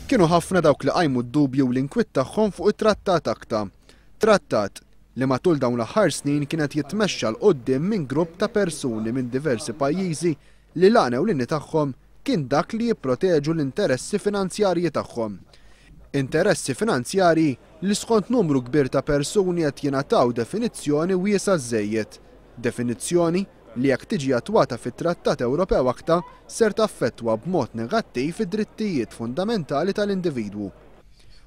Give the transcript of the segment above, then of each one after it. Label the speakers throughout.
Speaker 1: Kienu ħafna dawk li qajmu d-dubji u l-inkwiet tagħhom fuq it-Trattat ACTA. Trattat li matul dawn l-aħħar snin kien qed jitmexxa 'l quddiem minn grupp ta' persuni minn diversi pajjiżi li l-għan ewlieni tagħhom kien dak li jipproteġu l-interessi finanzjarji tagħhom. Interessi finanzjarji li skont numru kbir ta' persuni qed jingħataw definizzjoni wiesgħa żżejjed. Definizzjoni li jekk tiġi attwata fit-Trattat Ewropew ACTA ser taffettwa b'mod negattiv id-drittijiet fundamentali tal-individwu.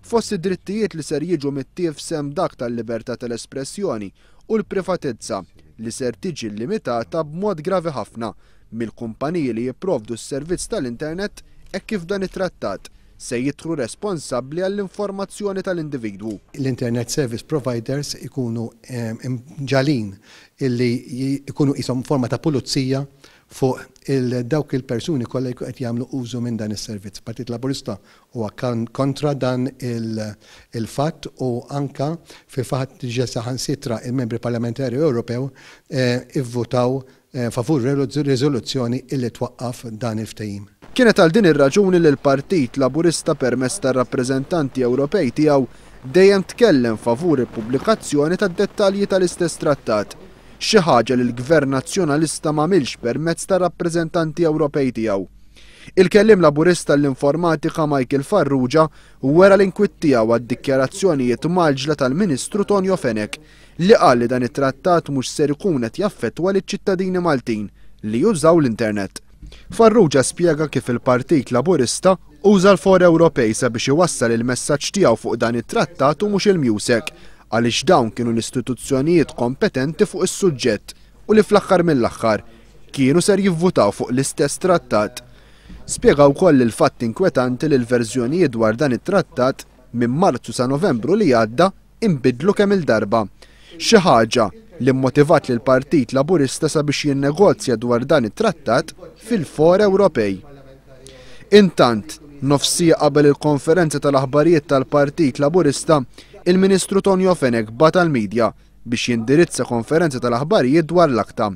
Speaker 1: Fost id-drittijiet li ser jiġu mittiefs hemm dak tal-libertà tal-espressjoni u l-privatezza li ser tiġi limitata b'mod gravi ħafna mill-kumpaniji li jipprovdu s-servizz tal-internet hekk kif dan it-trattat se jidħlu responsabbli għall-informazzjoni tal-individwu.
Speaker 2: L-internet service providers ikunu mġagħlin illi jkunu qishom forma ta' pulizija fuq dawk il-persuni kollha jkunu qed jagħmlu użu minn dan is-servizz. Partit Laburista huwa kontra dan il-fatt u anka fil-fatt diġà saħansitra il-membri parlamentari Ewropew ivvutaw favur riżoluzzjoni illi twaqqaf dan il-ftehim.
Speaker 1: Kienet għal din ir-raġuni li l-Partit Laburista permezz tar-rappreżentanti Ewropej tiegħu dejjem tkellem favur il-pubblikazzjoni tad-dettalji tal-istess trattat, xi ħaġa li l-Gvern Nazzjonalista m'għamilx permezz tar-rappreżentanti Ewropej tiegħu. Il-kelliem Laburista għall-Informatika Michael Farrugia wera l-inkwiet tiegħu għad-dikjarazzjonijiet mgħaġġla tal-Ministru Tonio Fenech li qal li dan it-trattat mhux ser ikun qed jaffettwa liċ-ċittadini Maltin li jużaw l-internet. Farrugia spjega kif il-Partit Laburista uża l-fora Ewropej sabiex iwassal il-messaġġ tiegħu fuq dan it-trattat u mhux il-MEUSAC għaliex dawn kienu l-istituzzjonijiet kompetenti fuq is-suġġett u li fl-aħħar mill-aħħar kienu ser jivvutaw fuq l-istess trattat. Spjega wkoll il-fatt inkwetanti li l-verżjonijiet dwar dan it-trattat minn Marzu sa Novembru li għadda inbidlu kemm il-darba. Xi ħaġa li mmotivat lil Partit Laburista sabiex jinnegozja dwar dan it-trattat fil-fora Ewropej. Intant, nofs siegħa qabel il-konferenza tal-aħbarijiet tal-Partit Laburista, il-Ministru Tonio Fenech bagħat għall-midja biex jindirizza konferenza tal-aħbarijiet dwar l-ACTA.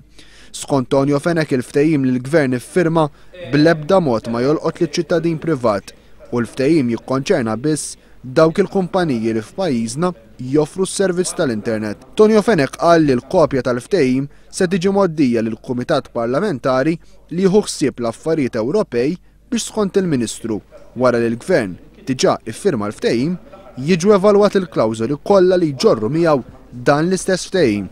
Speaker 1: Skont Tonio Fenech il-ftehim li l-Gvern iffirma bl-ebda mod ma jolqot liċ-ċittadin privat u l-ftehim jikkonċerna biss dawk il-kumpaniji li f'pajjiżna joffru s-servizz tal-internet. Tonio Fenech qal li l-kopja tal-ftehim se tiġi mgħoddija lill-Kumitat Parlamentari li jieħu ħsieb l-affarijiet Ewropej biex skont il-Ministru, wara li l-Gvern diġà iffirma l-ftehim, jiġu evalwati l-klawżoli kollha li jġorru miegħu dan l-istess ftehim.